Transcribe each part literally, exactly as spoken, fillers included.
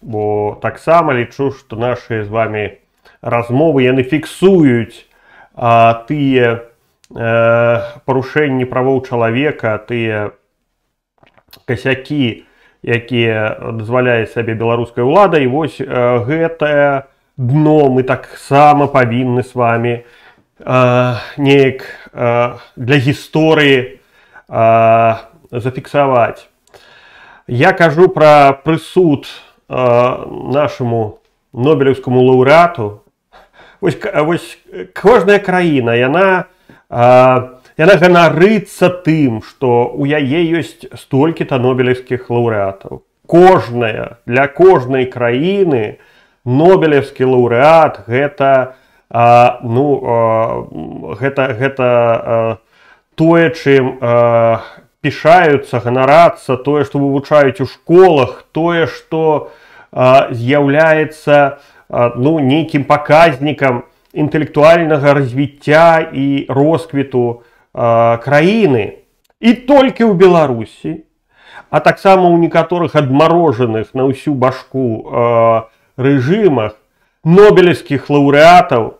бо таксама лічу, што нашы з вами размовы яны фіксуюць а, тыя э, парушэнні правоў чалавека, тыя касякі, якія дазваляе сабе беларуская ўлада. І вось э, гэтае дно мы таксама павінны з вами э, неяк э, для гісторыі э, зафіксаваць. Я кажу пра прысуд э, нашаму нобелеўскаму лаўрэату. Вось, вось кожная краіна, яна, э, яна ганарыцца тым, што ў яе ёсць столькі-то нобелеўскіх лаўрэатаў. Кожная, для кожнай краіны нобелеўскі лаўрэат гэта, э, ну, э, гэта, гэта э, тое, чым э, пішаюцца, ганарацца, тое, што вывучаюць у школах, тое, што э, з'яўляецца э, ну, нейкім паказнікам інтэлектуальнага развіцця і росквіту э, краіны. І толькі ў Беларусі, а таксама ў некаторых адмарожаных на ўсю башку э, рэжымах нобелеўскіх лаўрэатаў,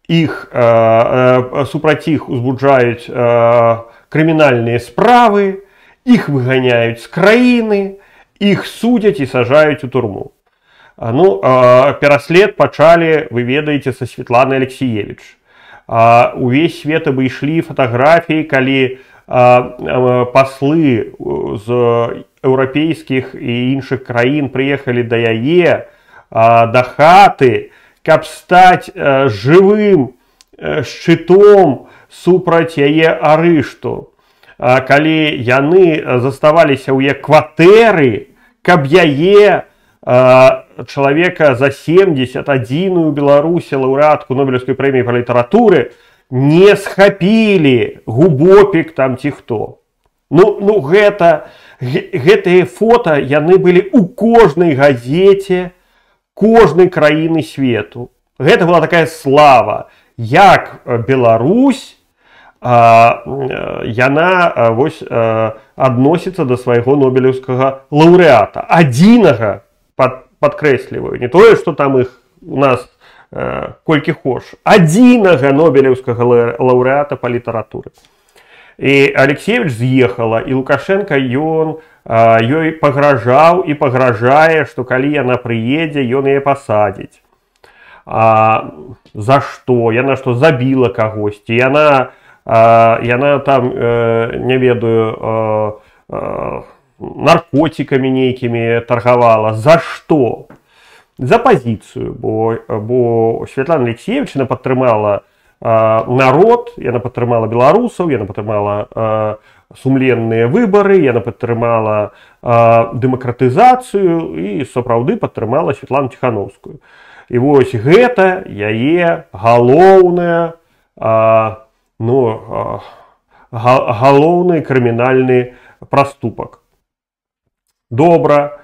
іх, э, э, супраць іх узбуджаюць э, крымінальныя справы, іх выганяюць з краіны, іх судзяць і сажаюць у турму. Ну, пераслед пачалі, вы ведаеце, са Светланы Алексіевіч. Увесь свет абышлі фатаграфіі, калі паслы з еўрапейскіх і іншых краін прыехалі да яе, да хаты, каб стаць жывым шчытом супраць яе арышту, калі яны заставаліся ў яе кватэры, каб яе чалавека за семдзесят адзіную Беларусі лаўрэатку Нобелеўскай прэміі па літаратуры не схапілі губопік там ці хто. Ну, ну гэта, гэтыя фота яны былі ў кожнай газеце кожнай краіны свету. Гэта была такая слава. Як Беларусь, а, яна вось, а, адносіцца да свайго нобелеўскага лаўрэата. Адзінага, пад, падкрэсліваю, не тое, што там іх у нас а, колькі хош, адзінага нобелеўскага лаўрэата па літаратуры. І Алексіевіч з'ехала, і Лукашенко ён а, ёй пагражаў і пагражае, што калі яна прыедзе, ён яе пасадзіць. А, за што? Яна што, забіла кагосьці? Яна, а, яна там, э, не ведаю, э, э, наркотикамі нейкімі таргавала. За што? За пазіцыю, бо, бо Светлана Алексіевічна падтрымала э, народ, яна падтрымала беларусаў, яна падтрымала э, сумленныя выбары, яна падтрымала э, дэмакратызацыю і сапраўды падтрымала Светлану Ціхановскую. І вось гэта яе галоўная, а, ну, а, галоўны крымінальны праступак. Добра.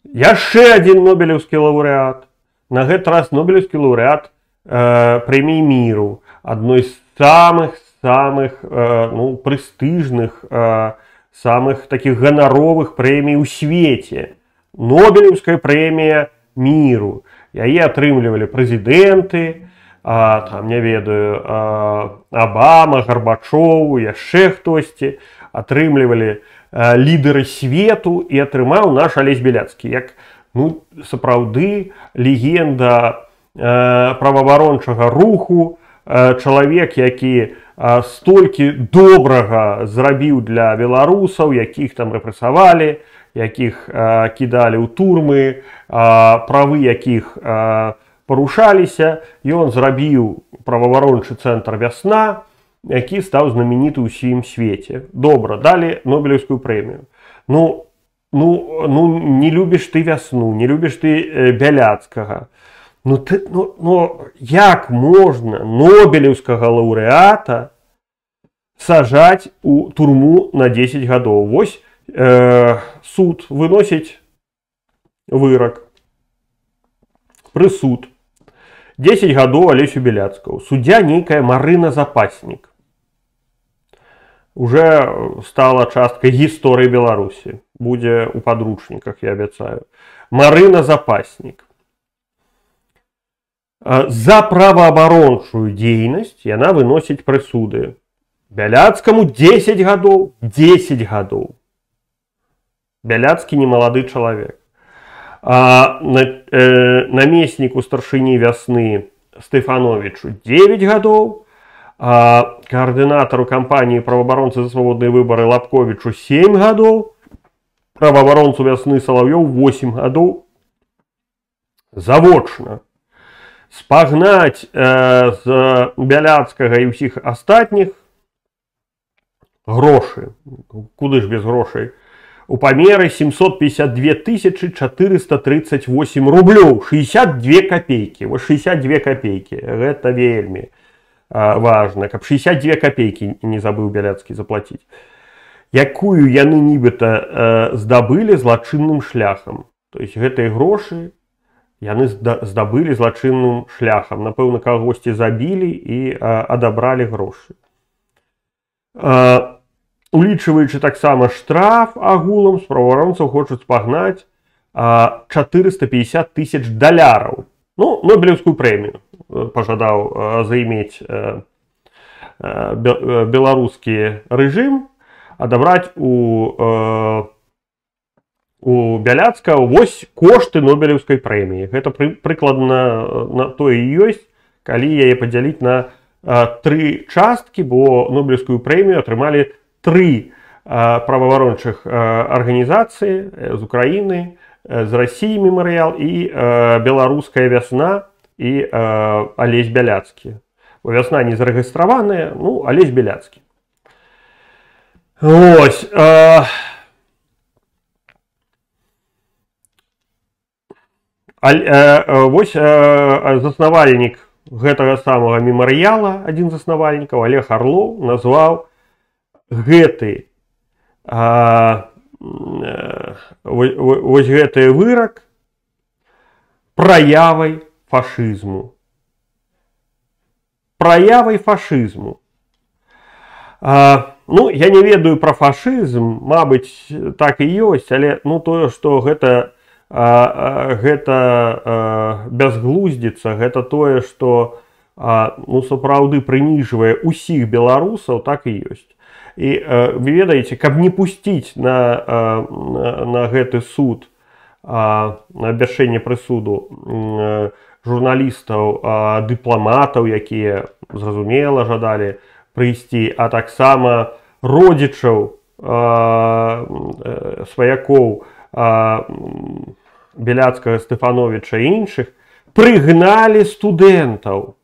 Яшчэ адзін нобелеўскі лаўрэат. На гэты раз нобелеўскі лаўрэат э, прэміі міру. Адной з самых-самых э, ну, прэстыжных, э, самых такіх ганаровых прэмій у свеце. Нобелеўская прэмія міру. Яе атрымлівалі прэзідэнты, а, там, не ведаю, а, Абама, Гарбачоў, яшчэ хтосьці, атрымлівалі а, лідары свету, і атрымаў наш Алесь Беляцкі. Як, ну, сапраўды легенда а, праваабарончага руху, а, чалавек, які а, столькі добрага зрабіў для беларусаў, якіх там рэпрэсавалі, якіх а, кідалі ў турмы, а, правы якіх а, парушаліся. Ён зрабіў праваабарончы цэнтр «Вясна», які стаў знамениты ў ўсім свеце. Добра, далі Нобелеўскую прэмію. Ну, ну, ну не любіш ты «Вясну», не любіш ты э, Бяляцкага. Ну, ты, ну, ну як можна нобелеўскага лаўрэата сажаць у турму на дзесяць гадоў? Вось Э, суд выносіць вырак, прысуд дзесяць гадоў Алесю Беляцкаму. Суддзя нейкая Марына Запаснік. Уже стала часткай гісторыі Беларусі. будзе у падручніках, я абяцаю. Марына Запаснік. За праваабарончую дзейнасць яна выносіць прысуды. Бяляцкаму дзесяць гадоў, дзесяць гадоў. Бяляцкі не малады чалавек. А, на, э, намесніку старшыні вясны Стэфановічу дзевяць гадоў, а коаардынатару кампаніі праваабаронцы за свабодныя выбары Лапковічу сем гадоў, праваабаронцу вясны Салаўёў восем гадоў. Завочна. Спагнаць э, з Бяляцкага і ўсіх астатніх грошы, куды ж без грошай, у памеры семьсот пятьдесят две тысячи четыреста тридцать восемь рублёў, шестьдесят две копейки. Вот шестьдесят две копейки, гэта вельмі а, важно, каб шестьдесят две копейки не забыў Бяляцкі заплатіць. Якую яны нібыта э, здабылі злачынным шляхам. То есть гэтыя грошы яны здабылі злачынным шляхам. Напэўна, кагосьці забілі і а, адабралі грошы. А, улічваючы таксама штраф агулам, з праваабаронцаў хочуць спагнаць а, четыреста пятьдесят тысяч даляраў. Ну, Нобелевскую прэмію пажадаў а, займець а, а, беларускі рэжым, адабраць у а, у Бяляцкага вось кошты Нобелевскай прэміі. Гэта пры, прыкладна на тое і ёсць, калі яе падзяліць на а, тры часткі, бо Нобелевскую прэмію атрымалі тры а, праваабарончых а, арганізацыі з Украіны, з Расіі мемарыял і а, Беларуская вясна і а, Алесь Бяляцкі. Бо вясна не зарэгістраваная, ну, Алесь Бяляцкі. Ось. А, Вось заснавальнік гэтага самага мемарыяла, адзін з заснавальнікаў, Олег Орлоў, назваў гэты а, вось гэты вырак праявай фашызму. Праявай фашызму. А, ну, я не ведаю пра фашызм, мабыць, так і ёсць, але ну тое, што гэта А, а, гэта а, бязглуздзіца, гэта тое, што а, ну, сапраўды прыніжвае ўсіх беларусаў, так і ёсць. І а, вы ведаеце, каб не пусціць на, а, на, на гэты суд, а, на абвяшчэнне прысуду а, журналістаў, а, дыпламатаў, якія, зразумела, жадалі прыйсці, а таксама родзічаў а, сваякоў а, Бяляцкага, Стэфановіча і іншых, прыгналі студэнтаў.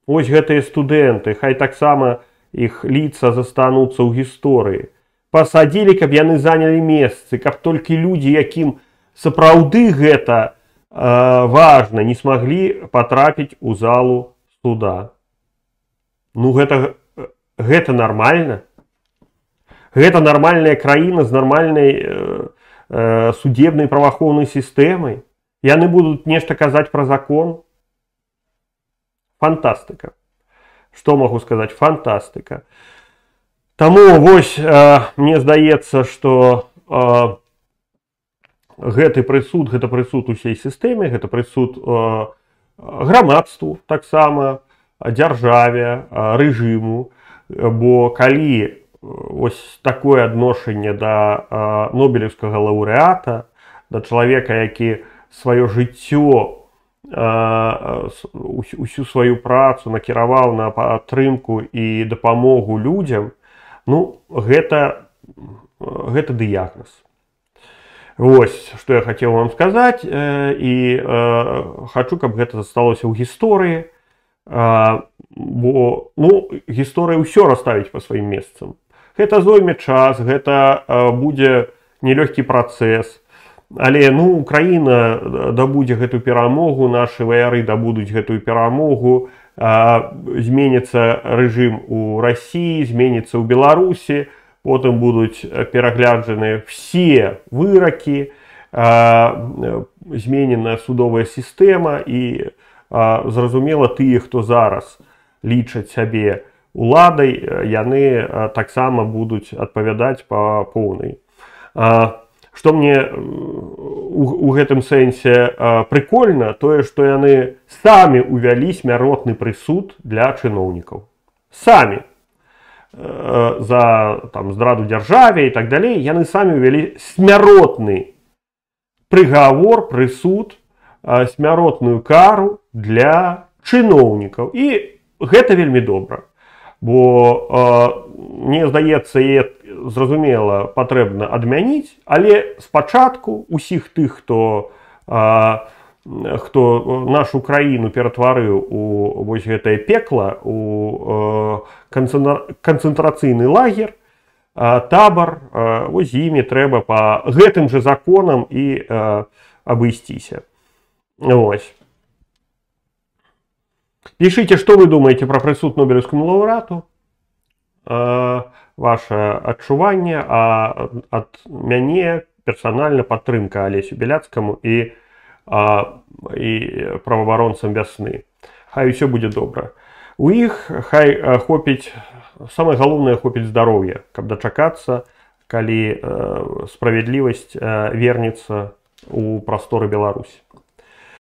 Вось гэтыя студэнты, хай таксама іх ліца застануцца ў гісторыі. Пасадзілі, каб яны занялі месцы, каб толькі людзі, якім сапраўды гэта а, важна, не смаглі патрапіць у залу суда. Ну гэта, гэта нармальна. Гэта нармальная краіна з нармальнай э, судебнай праваахоўнай сістэмай. Яны будуць нешта казаць пра закон. Фантастыка. Што магу сказаць? Фантастыка. Таму вось э, мне здаецца, што э, гэты прысуд, гэта прысуд усей сістэме, гэта прысуд э, грамадству таксама, дзяржаве, э, рэжыму, бо калі ось такое адношанне да а, нобелевскага лаўрэата, да чалавека, які сваё жыццё, а, усю сваю працу накіраваў на падтрымку і дапамогу людзям, ну, гэта, гэта дыягназ. Вось, што я хацеў вам сказаць, і а, хачу, каб гэта засталося ў гісторыі, а, бо, ну, гісторыя ўсё расставіць па сваім месцам. Гэта зойме час, гэта а, будзе нелёгкі працэс, але ну, Украіна дабудзе гэту перамогу, нашы ваяры дабудуць гэтую перамогу, а, зменіцца рэжым у Расіі, зменіцца ў Беларусі, потым будуць перагляджаны все выракі, а, зменена судовая сістэма і а, зразумела, тыя, хто зараз лічаць сябе уладай, яны таксама будуць адпавядаць па поўнай. Што мне у, у гэтым сэнсе прыкольна, тое, што яны самі ўвялі смяротны прысуд для чыноўнікаў. Самі. За там, здраду дзяржаве і так далей, яны самі ўвялі смяротны прыгавор, прысуд, смяротную кару для чыноўнікаў. І гэта вельмі добра. Бо, мне здаецца, яе зразумела патрэбна адмяніць, але спачатку усіх тых, хто, хто нашу краіну ператварыў у вось гэтае пекла, у канцэнтрацыйны лагер, табар, вось з імі трэба па гэтым жа законам і абысціся. Вось. Пишите, что вы думаете про прысуд Нобелевскому лаўрэату, ваше адчуванне, а ад мяне персанальна падтрымка Алесю Беляцкаму і, і праваабаронцам вясны. Хай усё будзе добра. У іх хай хопіць, самае галоўнае, хопіць здароўя, каб дачакацца, калі справядлівасць вернецца у прасторы Беларусі.